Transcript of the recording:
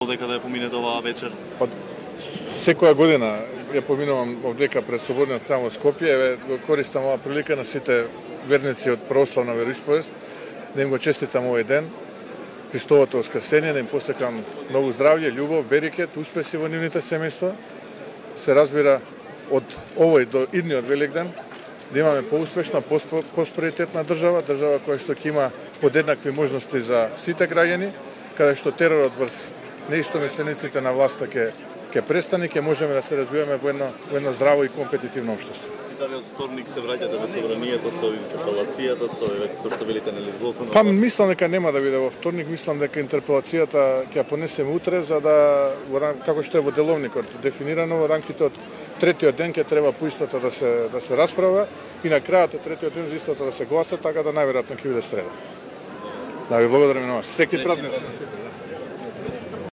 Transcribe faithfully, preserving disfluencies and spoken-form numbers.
Дека да ја поминете оваа вечер? Па, секоја година ја поминувам овдека пред Соборниот храм во Скопје, еве го користам оваа прилика на сите верници од православна вероисповест да им го честитам овој ден, Христовото воскресение, да им посекам многу здравје, љубов, берекет, успеси во нивните семејства. Се разбира од овој до идниот Великден да имаме поуспешна, просперитетна држава, држава која што ќе има подеднакви можности за сите граѓани, каде што теророт врз неистомислениците на власта ќе ќе престане, ќе можеме да се развиваме во едно во едно здраво и компетитивно општество. Дали од вторник се враќате во собранието со интерпелацијата, со кој што велите нели злото на... Па мислам дека нема да биде во вторник, мислам дека интерпелацијата ќе ја понесеме утре за да како што е во деловникот дефинирано во рамките од третиот ден ќе треба по истата да се да се расправа и на крајот од третиот ден за истата да се гласа, така да најверојатно ќе биде среда. Да ви благодарам на вас. Секи празници на сите.